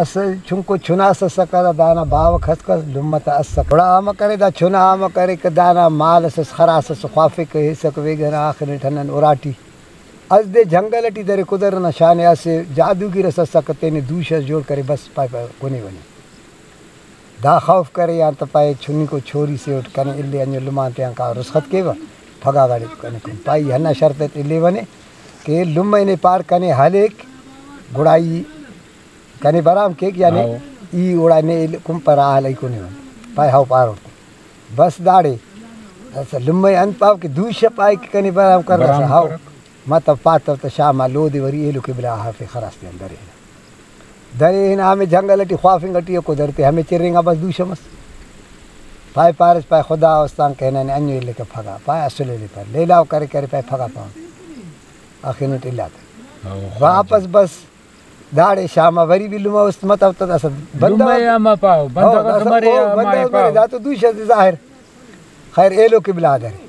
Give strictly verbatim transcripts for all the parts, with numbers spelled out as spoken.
اسہ چنکو چنا اس اسکہ، دا دانا باوہ کھسکہ، لمہ تا اسکہ۔ گڑا امر کرے، دا چنا امر کرے کہ دانا مال اس، اس خراس اس خوافک، ہیسکہ ویگہ نا، آخر ٹی ہندن اراٹی۔ اس دے جنگل ٹی درے، قدرت نا شان ءِ، اسہ جادوگر اس اسکہ، تینے دوشہ اس جوڑ کرے، بس پائے، پائے کنے ونی۔ دا خوف کرے آن تہ پائے چنکو چھوری سے اٹ کنے الے، انجو لمان تیان کا رخصت کیوہ، پھگا گاڑے کنے کن۔ پائے ای ہندا شرط اٹ الیونے کہ لمہ نے پار کنے ہلیک، گڑا ای کنے برام کیک، یعنی ہاؤ۔ ای اوڑا نے کمپرا ہلئی کنے ون۔ پائے ہاؤ پاروٹ۔ بس داڑے اسہ لمہ انت پاو کہ دوشہ پائے کہ کنے برام کر برام اسہ ہاؤ۔ کر۔ متو پاتو تہ شام آ لودے وری ایلو قبلہ آ ہرفے خراس تیان درے ہنا۔ درے ہنا ہمے جنگل ٹی خوافنگ ٹی ءِ، قدرتے ہمے چرینگا بس دوشہ مس۔ پائے پارس پائے خدا استان کہ ننے انجو الیکہ پھگا، پائے اسل الیپر، لیلاؤ کرے کرے پائے پھگا پاوہ۔ آخر نٹ الا تہ۔ ہاؤ، واپس بس داڑے شام آ وری بھی لمہ است متو تہ داسہ بندغ لمہ آ ما پاو، بندغ ہاؤ، اس داسہ مرے او آ ما بندغ اس مرے، پاو۔ دا تو دوشہ ظاہر۔ خیر ایلو قبلہ آ درے۔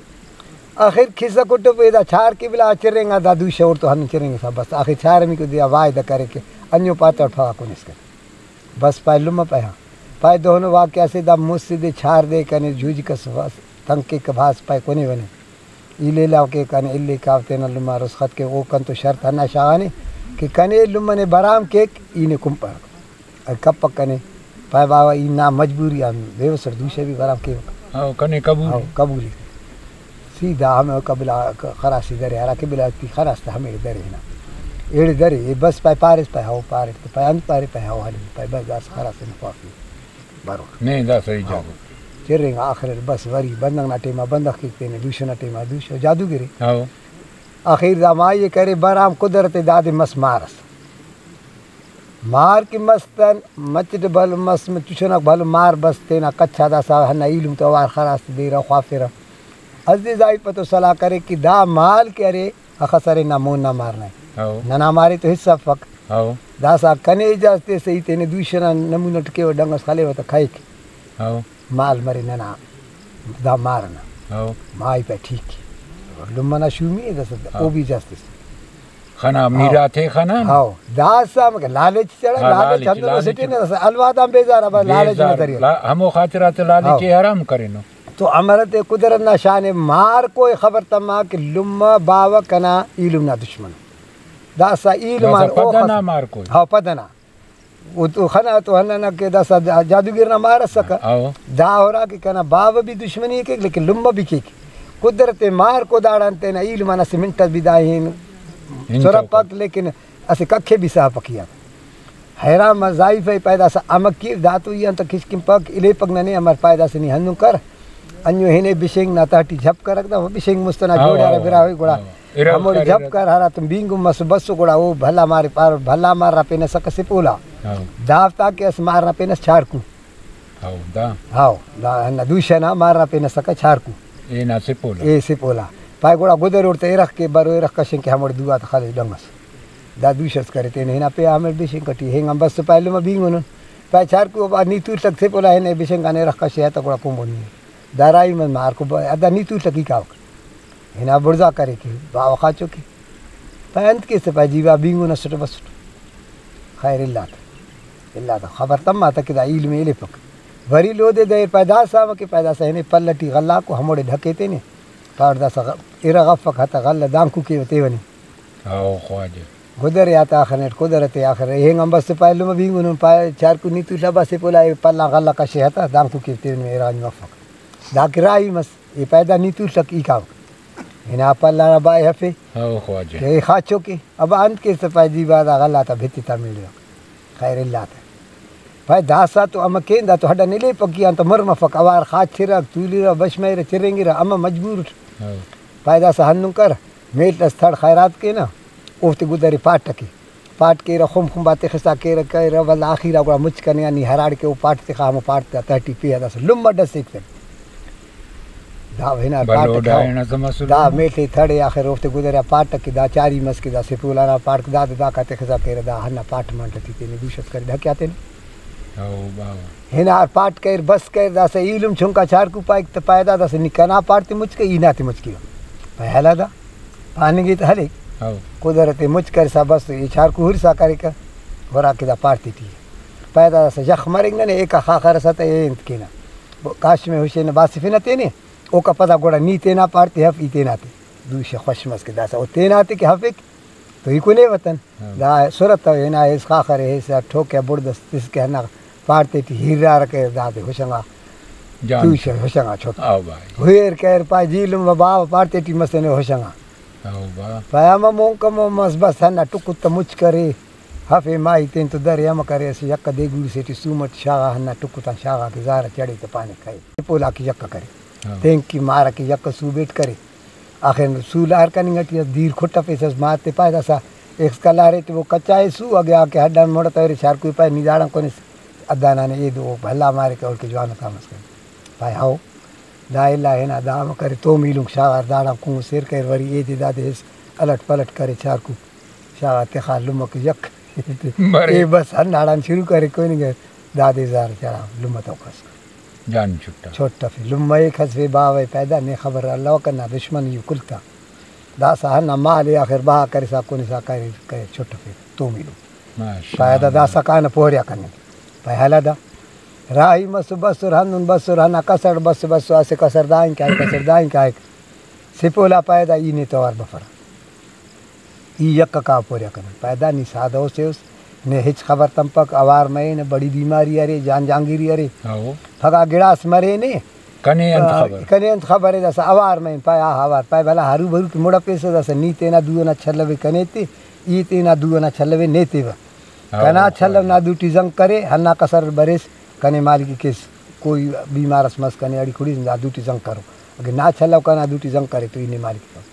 آخر کسہ کٹو پہ دا چار قبلہ آ چرینگا، دا دوشہ اوڑتو ہندن چرینگسا بس۔ آخر چارمیکو دے آ وعدہ کرے کہ انجو پاتوٹ پھگا کن اسکہ۔ بس پائے لمہ پائے ہاں۔ پائے دہنو واقعہ سے دا مسہ دے چار دے کنے جوجک اس بس تنگ کیک بھاز پائے کنے ونے۔ ای لیلاؤ کیک کنے الیکاو تینا لمہ رخصت کیک، او کنتو شرط ہندا شاغانے کہ کنے لمہ نے برام کیک ای نے کمپر۔ اگہ کپک کنے، پائے باوہ ای نا مجبوری آن بے وس اٹ دوشہ بھی برام کیوہ۔ ہاؤ، کنے قبول ہاؤ، ءِ۔ قبول ءِ۔ سیدھا ہمے قبلہ خراسی درے، ہرا قبلہ ٹی خراس تہ ہمیڑے درے ہنا۔ ایڑے درے، اے بس پائے پاریس پائے ہاؤ پاریٹ تہ پائے انت پارے پائے ہاؤ ہلے پائے بس داسہ خراس تینا خوافی بروٹ۔ نے دا صحیح ہاؤ۔ جاگہ۔ چرینگا آخر اٹ بس وری بندغ نا ٹائما بندغ کیک تینے، دوشہ نا ٹائما دوشہ، جادوگرے۔ ہاؤ۔ آخر دا مائی ءِ کرے برام قدرت ءِ دادے مس مار اس۔ مار کہ مس تن مچٹ بھلو مس، چشناک بھلو مار بس تینا کچ آ داسہ ہندا ایلم تو اوار خراس تہ بیرہ خوافرہ۔ اسہ دے زائیپہ تو صلاح کرے کہ دا مال کہ ارے اخس ارے نا مون نا مار نئے۔ ہاؤ۔ ننا مارے تو حصہ افک۔ ہاؤ۔ داسہ کنے اجازت ایسہ ای تینے دوشہ نا نمونہ ٹی کیوہ ڈنگ اس خلیوہ تہ کھائک۔ ہاؤ۔ مال مرے ننا، دا مار ئنا۔ ہاؤ۔ مائی پائے ٹھیک ءِ۔ لمہ نا شومی ءِ داسہ ہاؤ۔ او بھی اجازت ایسہ۔ خنا میرات ءِ خنا نا؟ ہاؤ، داسہ ہمکہ لالچ چڑھا، ہاں، لالچ لالچ، ہندن لالچ۔ اسٹ نا، داسہ الواد آن بیزار آ، بس لالچ نا بیزار، ذریعہ۔ لا-، ہمو خاطرات لالچ ہاؤ۔ ءِ حرام کرینو۔ تو امرتے قدرت نا شان ءِ مار کوئی خبر تما کہ لمہ باوہ کنا ایلم نا دشمن۔ داسہ ایلم آن داسہ او پد ئنا خس-، مار کوئی۔ ہاؤ، پد ئنا۔ او تو خنا تو ہندانا کہ داسہ جا-، جادوگر نا مار اسکہ۔ ہاؤ۔ دا ہرا کہ کنا باوہ بھی دشمنی ءِ کیک، لیکن لمہ بھی کیک۔ قدرت ءِ مار کو داڑان تینا ایلم آن اسہ منٹ اس بھی دا ہن ہن سرپک، تو۔ لیکن اسہ ککھ ءِ بھی سہپک ای آ۔ حیران مس زائیفہ ءِ پائے داسہ امر کیو، دا تو ای آن تہ کشکن پک، الیپک ننے امر، پائے داسہ نی ہندن کر، انجو ہنے بشینک نا تہٹی جھپ کرک، دا بشینک مست ئنا ہاؤ، جوڑہ ہرا ہاؤ، براہوئی گڑا ہاؤ۔ ارغ ہموڑے کرے جھپ دا۔ کر، ہراتم بینگن مس بس گڑا او بھلا مارے پارٹ، بھلا مار نا پین اسکہ سپولا۔ ہاؤ۔ دافتا کہ اس مار نا پین اس چاڑکو۔ ہاؤ، دا۔ ہاؤ، دا ہندا دوشہ نا مار نا پین اسکہ چاڑکو۔ اے نا سپولا۔ اے سپولا۔ پائے گڑا گدر اوڑتہ ارغ کے برو، ارغ کشنگ کے ہموڑے دو آتہ خلے ڈنگ اس۔ دا دوشہ اس کرے تینے ہنا پیا ہمے بشینک ٹی ہنگ آن بس پائے لمہ بینگنن۔ پائے چاڑکو با نی تولک سپولا ہنے بشینک آن ارغ کشے آتہ گڑا کومبو نی۔ دا راہی من مار کو با-، دا نی تولک ای کاوک۔ ہنا بڑزا کرے کہ باوہ خاچو کہ۔ پائے انت کیسہ؟ پائے جی با بینگن اسٹ بسٹ۔ خیر الا تہ، الا تہ خبر تما تہ کہ دا ایلم ءِ الیپک۔ وری لودے دے پائے داسہ امر کہ پائے داسہ ہنے پل ٹی غلہ کو ہموڑے ڈھکے تینے۔ پاوٹ داسہ غ-، ارغ افک ہتہ غلہ دانکو کیوہ تیوہ نے۔ او خواجہ۔ گدرے آتا آخر نیٹ قدرت ءِ آخر اینگ آن بس پائے لمہ بینگنن پائے چارکو نی تولہ بس پولا اے پل آن غلہ کشے ہتہ دانکو کیوہ تیوہ نے ارغ آن جو افک۔ دا کہ راہی مس۔ ای پیدا نی تولک ای کاوک۔ ہنا پل آن بائے ہفے۔ ہاؤ خواجہ۔ کہ ای خاچو کے۔ ابا انت کیس تہ پائے جی با دا غلہ تا بھتی تا میڑے۔ خیر اللہ تا۔ پائے داسا تو امہ کین دا تو ہڈا نلے پکی آن تو مر مفک اوار خاچرک تولیرہ بش مریرہ چرینگرہ امہ مجبور اٹ۔ ہاؤ۔ پائے داسا ہندن کر میل اس تھڑ خیرات کینہ اوفتے گدرے پاٹ کے۔ پاٹ کیرہ، خمب خمب آ تخسا کیرہ کیرہ، ولدا آخیرا گڑا مچ کنے آ نی ہراڑکہ او پاٹ تخا، ہمو پاٹ تا تہٹی پیہا داسہ لمہ ڈسیک تہ۔ دا ہنا بھلو پاٹ ڈائنا سما سلو۔ دا میل تے تھڑے آخر اوفتے گدرے آ پاٹ کہ دا چاری مس کہ دا سپول آنا پاٹ داد داکا تخسا کیرہ، دا ہندا پاٹ منٹ ٹی تینے دوشت کرے ڈھکیا تینے۔ او باوہ۔ ہنار پاٹ کریر، بس کریر، داسہ ایلم چنکا چارکو پائک تہ پائے دا داسہ نی کنا پاٹ تے مچ کے، ای ناتے مچ کیوہ۔ پائے ہلا دا، پاننگے تہ ہلیک۔ ہاؤ۔ قدرت تے مچ کرسا بس ای چارکو ہرسا کریکہ، ہراکہ دا پاٹ تیٹی۔ پیدا داسہ یخ مرنگ ننے، ایکا خاخر ئسا تہ اے انت کینہ۔ کاشم ہشین باسفنہ تینے، اوکا پدا گڑا نی تینا پاڑ تے ہف، ای تینا تے۔ دوشہ خوش مس کہ داسہ او تینا تے کہ ہفک تو ای کنے وطن۔ ہاں۔ دا صورت تو ہنا ایس خاخر ایس ٹھوکہ بڑد اس تس کہ ہندا پاڑ تیٹی ہیرارکہ دادے ہشنگا۔ جان۔ دوشہ ہشنگا چھوٹ۔ آو بھائی۔ ہوئر کر پائے جی لمہ باوہ پاڑ تیٹی مسنے ہشنگا۔ آو با۔ پائے امہ مون کمو مس بس ہندا ٹکت تہ مچ کرے۔ ہفے ماہی تین تو درے امہ کرے اسہ یکہ دے گوڑی سے ٹی سوم اٹ شاغا ہندا ٹکتان شاغا کہ زارہ چڑے تہ پانے کھئے۔ پولا کہ یکہ کرے۔ ہاں۔ تینکی مارہ کہ یکہ سو بیٹ کرے۔ آخر سولار کننگ ٹی اس دیر کھٹفیسس، ماتے پائے داسہ ایخس کلارے ٹی وہ کچائے سو، اگہ آ کہ ہڈان مڑ تورے چارکوئی پائے نی داڑان کونس ادانانے ایدو بھلا مارے کہ اوڑکہ جوان تامس کن۔ پائے ہاؤ، دا الا ہنا دا ہم کرے توم ایلم شاغار داڑان کون سیر کریر وری ایدے دادے ہس الٹ پلٹ کرے چارکو شاغار تخا لمہ کہ یک۔ مرے۔ اے بس ہنداڑان شروع کرے کوئی نہیں۔ دادے زار چڑھا لمہ تو کس۔ جان چھٹا۔ چھٹفے لمہ ءِ کھسفے باوہ ءِ پیدا نے خبر الوکہ نا دشمن یو کل تا۔ داسہ ہندا مال ءِ آخر بہا کرسا کنسا کرے کرے چھٹفے تومیلو۔ ماشاءاللہ۔ پائے دا داسہ کانہ پوریا کننگ۔ پائے ہلہ دا۔ راہی مسو بسر ہندن بسر ہندا کسر بس بسو اسہ کسر دائیں کائک کسر دائیں کائک۔ سپولا پائے دا ای نے توار بفرہ۔ ای یکہ کا پوریا کننگ۔ پائے دا نی سادہ ءُ سے اُس، نے ہچ خبر تمپک، اوار مرے، نہ بڑی بیماری ارے، جان جانگیری ارے۔ ہاؤ۔ پھگہ گڑاس مرے نے۔ کنے انت آ، خبر؟ کنے انت خبر اے، داسہ اوار مرے، پائے آہا اوار، پائے بھلا ہرو بھرو کہ مڑ اپیسہ، داسہ نی تینا دو ئنا چھلوے کنے تے، ای تینا دو ئنا چھلوے نے تیوہ۔ ہاؤ، کنا ہاؤ۔ چھلو نا دوٹی زنگ کرے، ہندا کسر بریس، کنے مالکی کیس، کوئی بیمار اس مس کنے اڑی کڑیس، دا دوٹی زنگ کرو۔ اگہ نا چھلو کنا دوٹی زنگ کرے تو ای نے مالکی کیس۔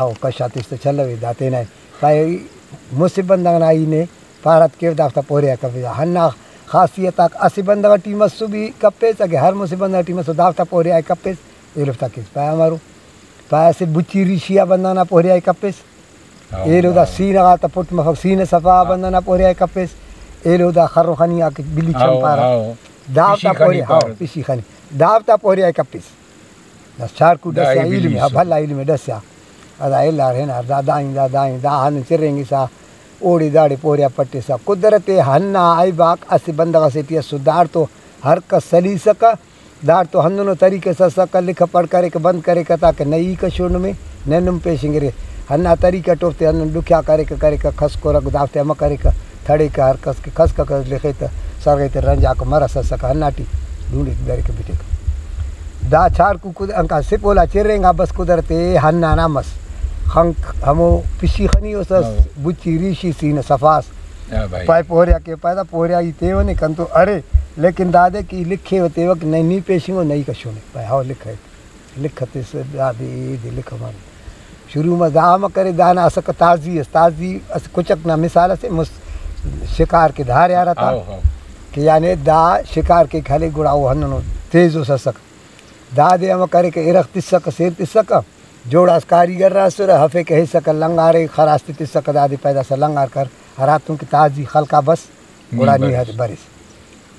ہاؤ، کش آ تس تہ چلوے، دا تینا ءِ۔ پائے، مسہ بندغ نا ای نے پارت کیو، دافتا پوریا کپیسہ۔ ہندا خاصیت آک اسہ بندغ ٹی مسو بھی کپیس، اگہ ہر مسہ بندغ ٹی مسو، دافتا پوریا ءِ کپیس، ایلوفتا کیس۔ پائے امرو؟ پائے اسہ بچی ریشی آ بندغ نا پوریا ءِ کپیس۔ ہاؤ، ایلو دا ہاؤ۔ سینہ غاتا پٹ مفک، سینہ صفا آ ہاں۔ بندغ نا پوریا ءِ کپیس۔ ایلو دا خر و خنی آ کہ بلی ہاؤ، چمپارہ۔ ہاؤ۔ دافتا پشی خنی پوریا، ہاؤ، پارہ۔ پشی خنی۔ دافتا پوریا ءِ کپیس۔ داسہ چاڑکو دا ڈسیا، ابلیس ایلم ءِ، ہا، ءِ۔ بھلا ایلم ءِ ڈسیا۔ ادا الار ہنار، دا دائیں، دا دائیں، دا ہندن چرینگسا، اوڑے داڑے پوریا پٹسا۔ قدرت ہندا عیب آک اسہ بندغ ئسے ٹی اسو، داڑتو ہر کس سلیسکہ، داڑتو ہندنو طریقہ ئس اسکہ، لکھ پڑھ کریکہ، بند کریکہ، تاکہ نہ ای کشو نمے، نہ نم پیشنگرے۔ ہندا طریقہ ٹی اوفتے ہندن ڈکھیا کریکہ، کریکہ، کھسکرہ، دافتے امر کریکہ، تھڑیکہ، ہر کس کہ کھسککہ لخے تہ سرغے تہ رنجاکہ مرس اسکہ، ہندا ٹی ڈونڈیک دریکہ بٹیکہ۔ دا چار کو-، کد-، انکا سپولا چرینگا بس قدرت ءِ ہندا نا مس۔ خنک ہمو پشی خنی اس ئس، ہاں۔ بچی ریشی سینہ صفاس۔ ہاں بھائی۔ پائے پوریا کہ پائے دا پوریا ای تیونے کنتو ارے، لیکن دادے کہ ای لکھے و تیوک نہ نی پیشنگو نہ ای کشونے۔ پائے ہاؤ لکھے۔ لکھ تس دادے ایدے لکھ مر۔ شروع ما دا ہم کرے، دانا اسکہ تازی اس، تازی اس کچک نا مثال اسے مس-، شکار کے دھارے آ رہتا۔ How, how. کہ یعنی دا شکار کے کھلے گڑا او ہندنو تیز اس اسک۔ دادے ہم کرے کہ ارغ تسکہ، سیر تسکہ، جوڑاس کاریگر راسرہ، ہفے کہ ہیسکہ لنگارے خراس تے تسکہ، دادے پیدا سا لنگار کر، ہراتون کہ تازی خلقا بس، گڑا نی برس۔ ہت بریس۔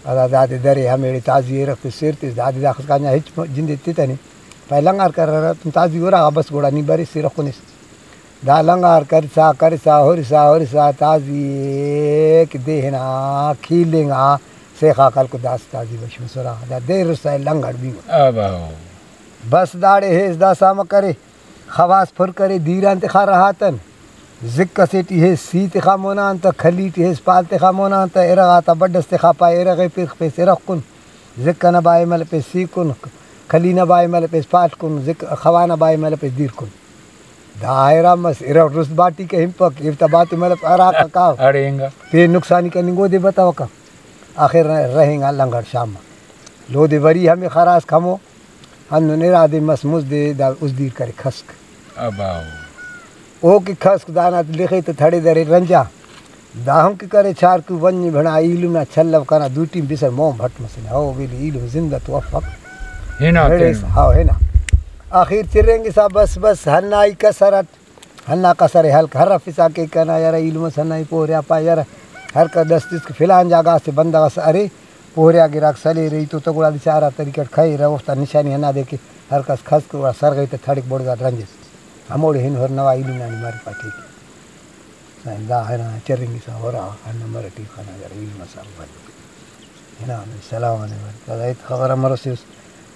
ادا دادے درے ہمیڑے تازی ارغ تے سیر تس، دادے داخس کانجا ہچ جندے تتنے۔ پائے لنگار کر ہراتون تازی اراغا بس، گڑا نی برس سیر خنس۔ دا لنگار کرسا، کرسا، ہرسا، ہرسا، تازی ایک دے ہنا کھیلنگا، سیخا کلکو داس تازی بش مسرا، دا دیر رسا لنگڑ بیوہ۔ آ باو۔ بس داڑے ہیس داسا امر کرے، خواس پر کرے، دیران تخا رہاتن، زک اسے ٹی ہیس سی تخا مونان تہ، کھلی ٹی ہیس پال تخا مونان تہ، ارغ آتا بڈ اس تخا پائے، ارغ ءِ پرخ پیس ارغ کن، زک ئنا بائے ملپیس سی کن، کھلی نا بائے ملپیس پال کن، زک خوا نا بائے ملپیس دیر کن۔ دا حیران مس، ارغ رست باٹی کہ ہنپک، ایفتا باتے ملپ ہراکا کاو۔ اڑے انگا۔ پین نقصانی کننگ اودے بتوکہ۔ آخر رہینگا لنگڑ شام آ۔ لودے وری ہمے خراس کمو، ہندن ارادے مس مزدے دا ازدیر کرے کھسک۔ اباؤ۔ او کہ کھسک دانا لخے تہ تھڑے درے رنجا۔ داہم کہ کرے چارکو ونج بھنا ایلم نا چھلو کنا دوٹی بسر مون بھٹ مسنے۔ ہو ویلے ایلم زندہ تو افک۔ ہنا ہڑیس، تین۔ ہاو ہنا۔ آخیر چرینگسا بس بس ہنائی کسر اٹ۔ ہنا کسر ءِ ہلک ہرفسا کہ کنا یارہ ایلم اس ہنائی پوریا پا یارہ ہر کس ڈس تس کہ فلان جاگہ اسہ بندغ اس ارے پوریا گراک سلیرہ ای تو تہ گڑا دے چارہ طریقہ اٹ کھیرہ اوفتا نشانی ہنادے کہ ہر کس کھسک گڑا سرغے تہ تھڑک بڑزاٹ رنجس ہموڑے ہن ہر نوا ایلم نا نی مریفا ٹھیک ءِ۔ سائیں دا ہنا چرینگسا ہرا ہندا مرٹی خنا یار علم سر بھلو۔ ہنا ہمے سلام آنے بھلو۔ پدا ہیت خبر ہم مرسیس۔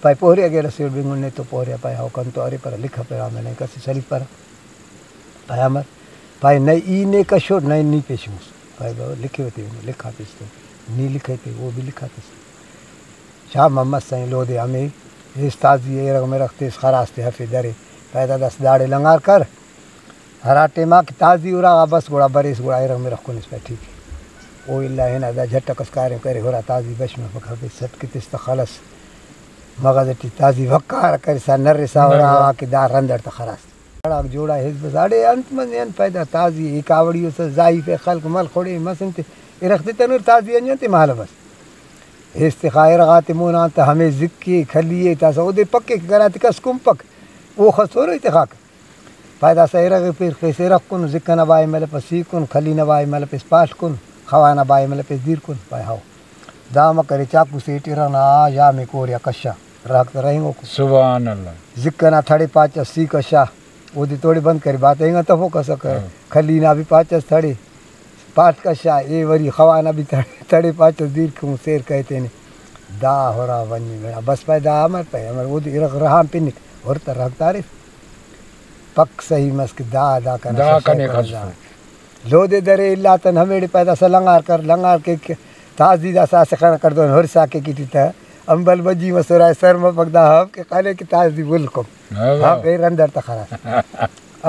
پائے پوریہ گیڈ اسیٹ بنگن نے تو پوریہ پائے ہو کنتو ارے پر لکھا پر آمے نے کسی سلیپر۔ پائے امر۔ پائے نئے ای نے کشوٹ نئے نی پیش مس۔ پائے بابا لکھے ہوتے لکھا پیش تو۔ نی لکھے تے وہ بھی لکھا پیش۔ شام ہم مس سائیں لودے ہمے۔ ایس تازی ایرغ مرغ تیس خراس تے ہفے درے۔ پائے دا دس داڑے لنگار کر۔ ہرا ٹائما کہ تازی اراغا بس گڑا بریس گڑا ایرغ مرغ کنس پائے ٹھیک ءِ۔ او الا ہنا دا جھٹک اس کاریم کرے ہرا تازی بش مفک ہفے سٹ کہ تس تہ خلس مغز ٹی تازی وقار کرسا نرسا نرسا۔ اراغا کہ دا رندڑ تہ خراس۔ اڑاک جوڑا ہیس بس اڑے انت منے انت پیدا تازی ءِ کاوڑی اس ضعیف ءِ خلق مل خڑے مس انت ارغ تتنر تازی انجن تے مالو بس۔ ہیس تخا ارغاتے مونا انت ہمے زکی کھلی ءِ تاسا اودے پکے کہ کنا تے کس کنپک او خسورو تے خاک۔ پائے داسہ ارغ ءِ پیر خیس ارغ کن، زک ئنا بائے ملپس سی کن، کھلی نا بائے ملپس پاڷ کن، خوا نا بائے ملپس دیر کن۔ پائے ہاؤ۔ دا امر کرے چاکو سیٹ ارغ نا ژامے کوریا کشا، رہک تہ رہینگوکو۔ سبحان اللہ۔ زک ئنا تھڑے پاچ اس سی کشا، اودے توڑے بند کرے بات اینگا تفوک اسکہ۔ ہاں۔ کھلی نا بھی پاچ اس تھڑے پاٹ کشا، اے وری خوا نا بھی تھڑے، تھڑے پاچ اس دیر کن سیر کہے تینے۔ دا ہرا ونی گڑا بس پائے دا امر پائے امر اودے ارغ رہان پنک، ہر تہ رہک تاریف۔ پک صحیح مس کہ دا، دا کنا دا خسو کنے کنا خسو۔ دا۔ لودے درے الا تن ہمیڑے پائے داسہ لنگار کر، لنگار کیک تازی داسہ اسہ خان کڑدون ہرسا کیک ٹی تہ امبل بجی مسرائے سر مفک دا ہب کہ خانے کہ تازی ول کم۔ ہاں۔ ہب اے رندر تہ خراس۔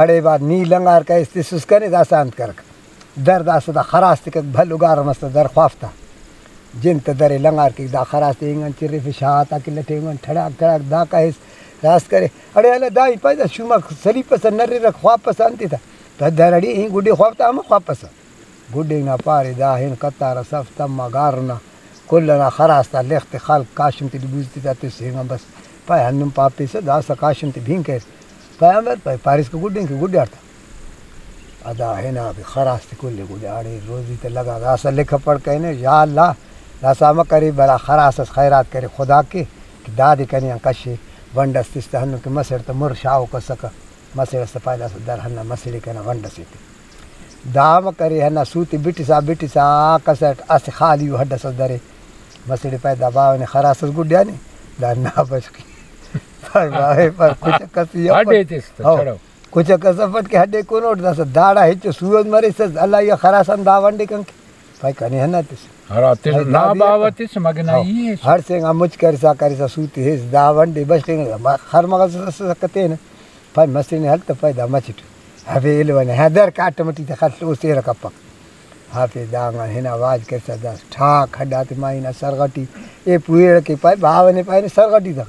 اڑے بعد نی لنگار کائس تسس کنے داسہ انت کرک۔ در داسہ دا خراس تکک بھلو گار مس تہ در خواف تا۔ جن تہ درے لنگار کیک دا خراس تے اینگان چرفے شاہ تا کہ لٹے اینگان ٹھڑاک ٹھڑاک دا کائس راست کرے۔ اڑے اللہ دا ای پائے دا شوما سلیپسہ نررک خواپسہ انتے تا۔ پہ در اڑے ای گڈے خواپ تا ہمہ خواپسہ۔ گڈے نا پارے دا ہن قطار صف تما گارنا کل ئنا خراس تا لخ تے خلق کاشم تے بوز تتا تس اینگان بس۔ پائے ہندن پاپیسہ داسہ کاشم تے بھینگ کریر۔ پیغمبر پائے پاریس کہ گڈین کہ گڈاٹ۔ ادا ہنا بھی خراس تے کل گڈاڑے روزی تے لگا داسا لکھ پڑھ کہنے یا اللہ داسا مکرے بلا خراس اس خیرات کرے خدا کے کہ دادے کنے آن کشے ونڈ اس تس تہ ہندن کہ مسڑ تہ مر شاغوک اسکہ مسڑ اس تہ پائے داسا در ہندا مسڑے کنا ونڈ اسے تے دا مکرے ہندا سوتے بٹسا بٹسا کسٹ اسہ خالی ءُ ہڈ اس درے مسڑے پائے دا باوہ نے خراس اس گڈیانے دا نا بشخی۔ پائے باوہ پر کچک اس ہی ہڈے افٹ۔ تس تہ ہو۔ چڑو۔ کچک اس افٹ کہ ہڈے کنوٹ داسہ داڑا ہچو سوج مریسس اللہ یا خراس آن دا ونڈے کنکہ۔ پائے کنے ہندا تس۔ ہرا تس پائے نا دادی باوہ افٹ۔ تس مگہ نا ہو۔ E S. ہڑسینگا مچ کرسا کرسا سوتے ہیس دا ونڈے بشخنگ خر مغس اس سکتین۔ پائے مسنے ہل تہ پائے دا مچٹ۔ ہبے ایلو نے ہاں در کاٹم ٹی تہ خل او سیرہ کپک۔ ہافے دانگان ہنا واج کرسا داس ٹھاک ہڈاتے مائی نا سرغ ٹی۔ اے پویڑ کہ پائے باوہ نے پائے نے سرغ ٹی تہ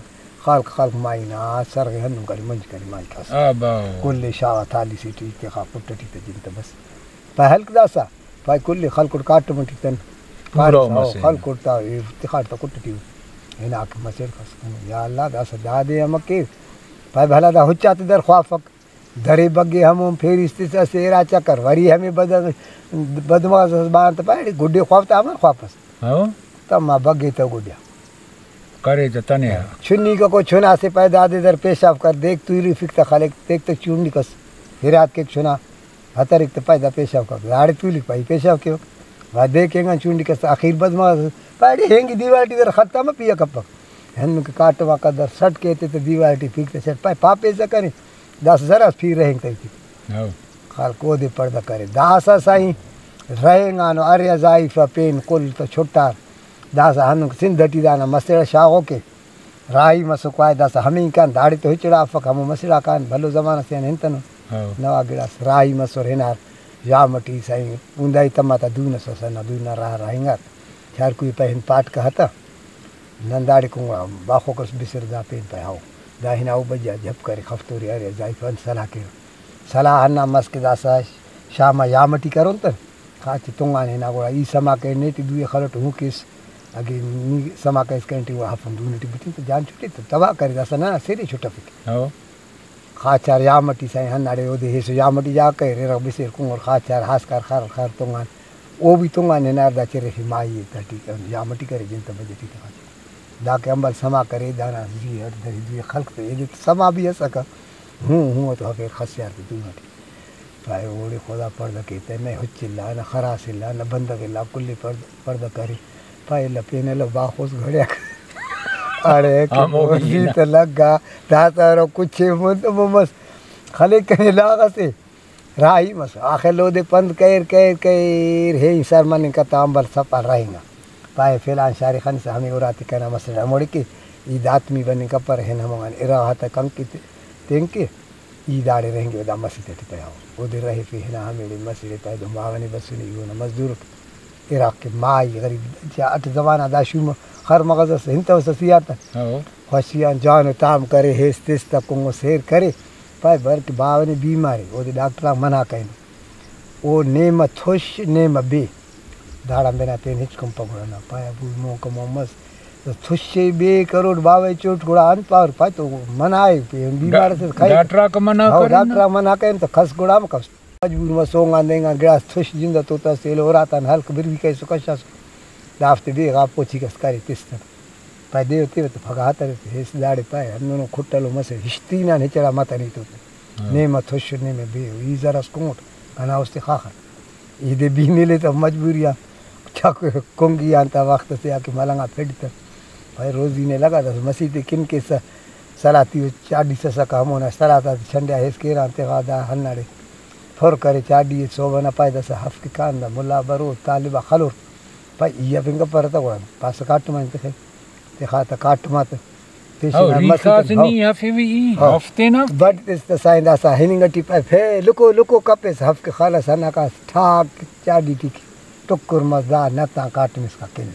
خلق خلق مائی نا سرغ ہندن کرے منج کرے مائی کس۔ آ باوہ۔ کل ئے شاغا تھالی سے ٹی تخا کٹ ٹی تہ جن تہ بس۔ پائے ہلک داسا پائے کل ئے خلکٹ کاٹم ٹی تن۔ پورو پارسا او مسے۔ خلکٹ تا اے تخاٹ تا کٹ ٹی ہنا کہ مسڑ کس۔ یا اللہ داسا دادے امر کیو۔ پائے بھلا دا ہچاتے در خوافک۔ درے بگے ہمون پھیریس تس اسہ ارا چکر وری ہمے بدن بدمغز اس بان تہ پائے گڈے خواف تہ امر خواپس۔ ہو۔ تما بگے تہ گڈیا۔ کرے تہ تنیا۔ چنی ککو چنا سے پائے دادے در پیشاف کر دیک تولیفک تہ خلک دیک تہ چونڈی کس ہرات کیک چنا ہترک تہ پائے دا پیشاف کر داڑے تولیک پائے پیشاف کیو۔ وا دیک اینگان چونڈی کس تہ اخیر بدمغز پائے ہینگی دیوال ٹی در خط تما پیا کپک۔ ہندن کہ کاٹم آ قدر سٹ کیتے تہ دیوال ٹی پھیک تہ سٹ پائے پاپیسہ کنے۔ داسہ زراس پیر رہینگ تیٹی۔ ہو۔ خلق اودے پڑدہ کرے۔ داسہ سائیں رہینگانو ارے ضعیفہ پین کل تہ چھٹار۔ داسہ ہندن سندھ ٹی دانا مسڑ شاغوکے۔ راہی مسوک وائے داسہ ہمینکان داڑے تو ہچڑا افک ہمو مسڑاکان بھلو زمانہ سے آن ہنتنو۔ ہو۔ نوا گڑاس راہی مسر ہنار۔ ژام ٹی سائیں اوندائی تما تا دون اس ئسا نا دون نا راہ رہینگار۔ چارکوئی پہ ہن پاٹ کہتہ۔ نن داڑے کن گڑا باخوک اس بسر دا پین پائے ہاو۔ دا ہنا او بجا جھپ کرے خفتوری ارے ضعیفہ انت سلاہ کیرہ۔ سلاہ ہندا مس کہ داسہ شام آ یام ٹی کرون تہ خاچے تنگانے ہنا گڑا ای سما کرے نے ٹی دوئے خلٹ ہوں کیس۔ اگہ نی سما کریس کنے ٹی گڑا ہفن دو نے ٹی بٹن تہ جان چھٹے تہ تباہ کرے داسہ ننا سرے چھٹفک۔ ہاو۔ خاچار یام ٹی سائیں ہنداڑے اودے ہیسو یام ٹی جاگہ کریر ارغ بسیر کنگر خاچار ہاسکار خر خر تنگان۔ او بھی تنگان ہنار دا چرفے مائی ءِ تہٹی یام ٹی کرے جن تہ بجٹ ای تہ خاچار۔ دا کہ امبل سما کرے دانا زی اٹ درے دوئے خلق تہ ایدے تہ سما بھی اسکہ۔ ہوں ہوں تو ہفیر خسیار تہ دون ٹی۔ پائے اوڑے خدا پڑدہ کیتہ، نہ ہچ الا، نہ خراس الا، نہ بندغ الا، کل ئے پڑدہ، پڑدہ کرے۔ پائے الا پین ایلو باخوس گھڑیاک۔ اڑے کہ ہمو بوزی تہ لگا، داسہ ہرو کچھ ئے مون تہ مون مس۔ خلک کنے لاغ ئسے راہی مس۔ آخر اودے پند کریر، کریر، کریر، ہین سر مننگ کتہ امبل سپا رہینگا۔ پائے فلان شاری خنسہ ہمے اراتے کنا مسڑ ہموڑے کہ ای داتمی بننگ کپرہ، ہن ہموان اراغا تہ کن کہ تین کہ۔ ای داڑے رہینگے، دا مسیت ٹی پہہ۔ اودے رہیفے ہنا ہمیڑے مسیت ئے پہہ، دن باوہ نے بسنے، ای اونا مزدور اٹ۔ اراغ کہ مائی غریب، اٹ زمانہ دا شوم خر مغز ئس، ہنتوسہ سیار تہ۔ ہو۔ خوشی آن جوانو تام کرے، ہیس تس تہ کنگو سیر کرے۔ پائے بر کہ باوہ نے بیمارے، اودے ڈاکٹر آک منع کرینو۔ او نیمہ تھش، نیمہ بے۔ داڑان بنا پین ہچ کن پگڑا نا۔ پائے ابو مون کمو مس۔ تو تھشے بے کروٹ باوہ چوٹ گڑا انت پاور پائے تو منع ئے، پین بیمار ئسے خیر۔ ڈاکٹر آک منع ہو، کرین نا۔ ڈاکٹر آک منع کرین تو کس گڑا مہ کس۔ مجبور مس سونگ آن دینگ آن گڑاس تھش جند تو تس ایلو اراتان ہلک بروی کریسو کشاسو۔ دافتے بے غا پوچی کس کرے تس تہ۔ پائے دیو تیوہ تہ پگہ ہترے تہ ہیس داڑے پائے ہندنو کھٹلو مسہ ہشتین آن ہچڑا متنے تو تہ۔ ہاں۔ نیمہ تھش نیمہ بے ای زرس کونٹ کنا استے خاخر۔ ای دے بی نلے تہ مجبوری آ چاکو کنگی آن تا وخت سے آ کہ ملنگ آ پھڈ تہ۔ پائے روزی نے لگا دس مسیتے کن کیسہ سلاتی و چاڈی سسکہ ہمونا سلات آتے چھنڈیا ہیس کیران تغا دا ہنداڑے پر کرے چاڈی ئے صوبہ نا پائے داسہ ہفک کان دا ملا برو طالب آ خلور۔ پائے ای ہفنگ کپرہ تہ گڑا پاسہ کاٹم آن تخے۔ تخا تہ کاٹم آ تہ پیشن او، آ ریخاس مسیت نی ہو۔ ہفوی ای ہو۔ ہفتے نا۔ بٹ تس تہ سائیں داسہ ہننگ ٹی پائے پھے لکو لکو کپیس ہفک خلس ہنکاس ٹھاک چاڈی ٹی ٹکر مس دا نتان کاٹم اسکا کن۔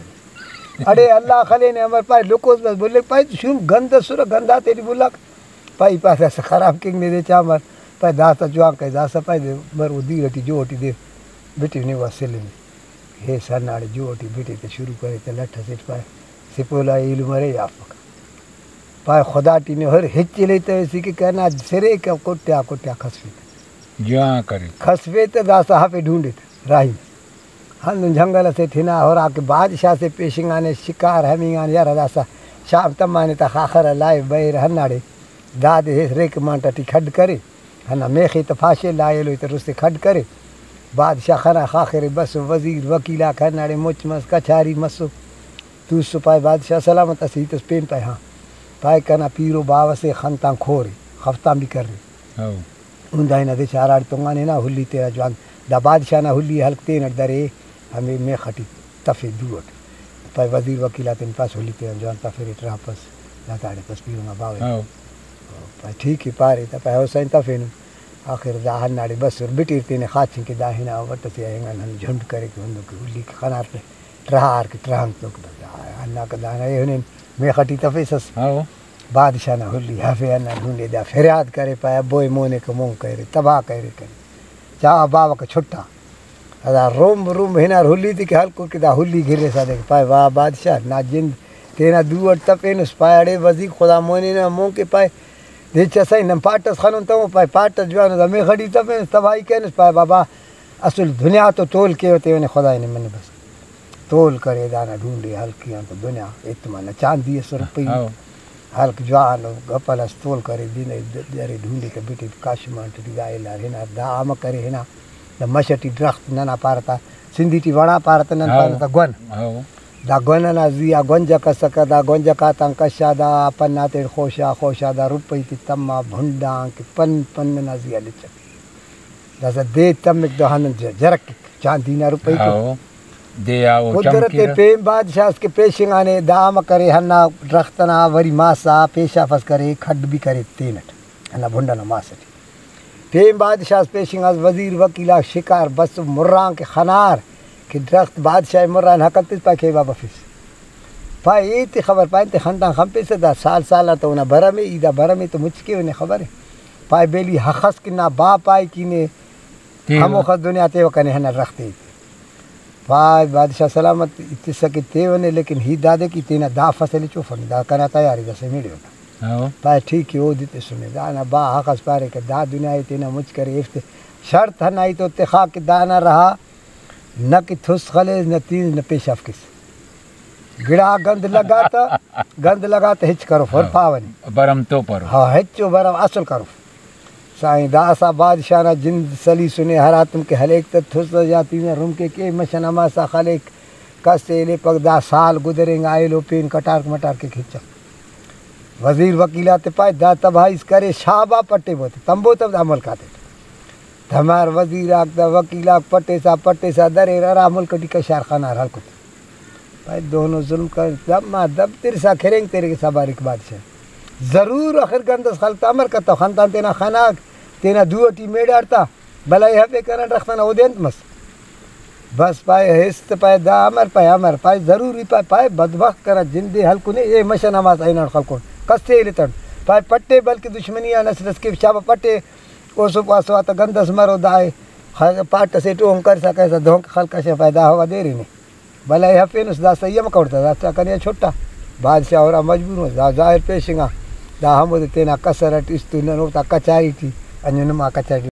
اڑے اللہ خلینے امر پائے لکوس بس بلک پائے شوم گند اسرہ گند آتیٹی بلاک۔ پائے ای پاسہ اسہ خراب کنگ نے دے چا مر۔ پائے داسہ جوان کائے داسہ پائے دے مر او دیر ٹی جو ٹی دے بٹی نے وا سلنے۔ ہیس ہنداڑے جو ٹی بٹے تہ شروع کرے تہ لٹ اسیٹ پائے سپولا ایلم ارے یافک۔ پائے خدا ٹی نے ہر ہچ الیتویسی کہ کنا سرے کہ کٹیا کٹیا کھسفے تہ۔ جوان کرے۔ کھسفے تہ داسہ ہفے ڈھونڈے تہ راہی۔ ہندن جنگل اسیٹ ہنا ہراکہ بادشاہ سے پیشنگانے شکار ہمینگان یار داسہ شام تمانے تا خاخر لائے بئیر ہنداڑے دادے ہیس ریک مانٹا ٹی کھڈ کرے۔ ہندا میخے تہ پاشے لا ایلو تہ رستے کھڈ کرے۔ بادشاہ خنا خاخرے بسو وزیر وکیل آک ہنداڑے مچ مس کچاری مسو۔ توسو پائے بادشاہ سلامت اسہ ہیتس پین پائے ہاں۔ پائے کنا پیرو باوہ سے خنتان کھورے خفتان بھی کرے۔ ہو۔ ہندا ہنا دے چا ہراڑے تونگانے ہنا ہلی تینا جوان دا بادشاہ نا ہلی ئے ہلک تینٹ درے ہمے میخ ٹی تفے دو اٹ۔ پائے وزیر وکیل آتیان پاس ہلی تینا جوان تفیرے ٹراپس دا داڑے پس پیرنگا باوہ۔ ہاؤ۔ پائے ٹھیک ءِ پارے تہ پائے ہو سائیں تفینن۔ آخر دا ہنداڑے بسر بٹیر تینے خاچن کہ دا ہنا وٹ ئسے آ اینگان ہندن جھنڈ کرے کہ ہندن کہ ہلی کہ خنار تہ ٹرہار کہ ٹرہنگ تو کہ بس دا ہنداکہ دانا ایہنین میخ ٹی تفیسس۔ ہاؤ۔ بادشاہ نا ہلی ہفے ہندا ڈونڈے دا فریاد کرے پائے ابو ای مونے کہ مون کریرے تباہ کریرے کنے۔ چا باوہ کہ چھٹا۔ ہرا رمب رمب ہنار ہلی تے کہ ہلکر کہ دا ہلی گرسا دے کہ پائے واہ بادشاہ نا جند تینا دو اٹ تفینس۔ پائے اڑے وزیر خدا مونی نا مون کہ پائے دے چا سائیں نن پاٹ ئس خنن تمو پائے پاٹ ئس جوانو دا میخ ٹی تفینس تباہی کرینس۔ پائے بابا اسل دنیا تو تول کیو تیونے خدائے نے منہ بس۔ تول کرے دانا ڈونڈے ہلکی آن تو دنیا اتمانا چاندی ئس رپئی۔ ہاؤ۔ ہلک جوان ءُ گپل ئس تول کرے دن ءِ درے ڈونڈے تہ بٹے کاشمان ٹی دا الار ہنار دا امہ کرے ہنا دا مش ٹی درخت ننا پارہ تا سندھی ٹی وڑا پارہ تہ نن ہاؤ۔ پانہ تا گون۔ ہاؤ۔ دا گون ئنا زی آ گونجک اسکہ دا گونجک آتان کشا دا پن آتیٹ خوشا خوشا دا رپئی تے تما بھنڈ آن کہ پن پن ئنا زی آ لچک۔ داسہ دے تمک دا ہندن ج-، جرک کیک، چاندی نا روپئی کیک۔ ہاؤ، دے آ او قدرت چمکرہ۔ پین بادشاہ اس کہ پیشنگانے دا امہ کرے ہندا درخت ئنا وری ماسا پیشافس کرے کھڈ بھی کرے تینٹ ہندا بھنڈ ئنا ماس ٹی۔ پین بادشاہ اس پیشنگاس وزیر وکیل آک شکار بس مران کہ خنار کہ درخت بادشاہ مران ہکل تس پائے کہ بابا فس۔ پائے ایتے خبر پائے انتے خندان خنپیسہ دا سال سال آن تو اونا بھرم ءِ، ای دا بھرم ءِ تو مچ کیوہ نے خبر ءِ۔ پائے بیلی ہخس کہ نا با پائے کہ نے تیوہ۔ ہموخس دنیا تیوہ کنے ہندا درخت ءِ۔ پائے بادشاہ سلامت اتسہ کہ تیوہ نے لیکن ہیت دادے کہ تینا دا فصل ءِ چوفنے دا کنا تیار ءِ داسہ میڑے اونا۔ ہاؤ۔ پائے ٹھیک ءِ اودے تسنے دانا با ہخس پارے کہ دا دنیا ءِ تینا مچ کرے ایفتے شرط ہنا ای تو تخا کہ دانا رہا نہ کہ تھس خلیس، نہ تینس، نہ پیشاف کیس۔ گڑا گند لگا تہ، گند لگا تہ ہچ کروف، ہر ہاں۔ پاوہ نے۔ بھرم تو پرو۔ ہاں، ہچو بھرم اصل کروف۔ سائیں، داسہ بادشاہ نا جند سلیسنے، ہراتم کہ ہلیک تہ تھسہ یا تینا رمکے کے مشن ہماسا خلیک، کس ایلپک، دا سال گدرینگا ایلو پین کٹارک مٹارک ہچ۔ وزیر وکیل آتے پائے، دا تباہی اس کرے، شابا پٹے بوتے، تمبو تب دا ملک آتے۔ تمار وزیر آک دا وکیل آک پٹیسا پٹیسا دریر، ہرا ملک ٹی کشار خنار ہلکت۔ پائے دہنو ظلم کر، دما دب ترسا کھرینگ تیرے کہ سبارک بادشاہ۔ ضرور آخر گند اس خلک تا امر کتو، خنتان تینا خناک، تینا دو ٹی میڑاڑ تا، بلائے ہفے کنا ڈرخت ئنا اودے انت مس؟ بس پائے ہست پائے دا امر پائے امر پائے ضروری پائے، پائے بدبخت کنا جندے ہلکنے، اے مشن ہماسا ہناٹ خلکون، کس تے ایلتن۔ پائے پٹے بلکہ دشمنی آ نسل اس کے شابہ پٹے، او سو پاسو آتا گند اس مرو دائے، خ-، پاٹ اسے ٹوہن کرسا کیسا دہنکہ خلک اسے پائے دا ہوا دیرے نے۔ بلائے ہفینس، داسہ ای ہم کروٹ تا، داسہ کنے آ چھٹا۔ بادشاہ ہرا مجبور مس، دا ظاہر پیشنگا۔ دا ہمودے تینا کسر اٹ استو، نن اوفتا کچاری ٹی، انجو نما کچاری ٹی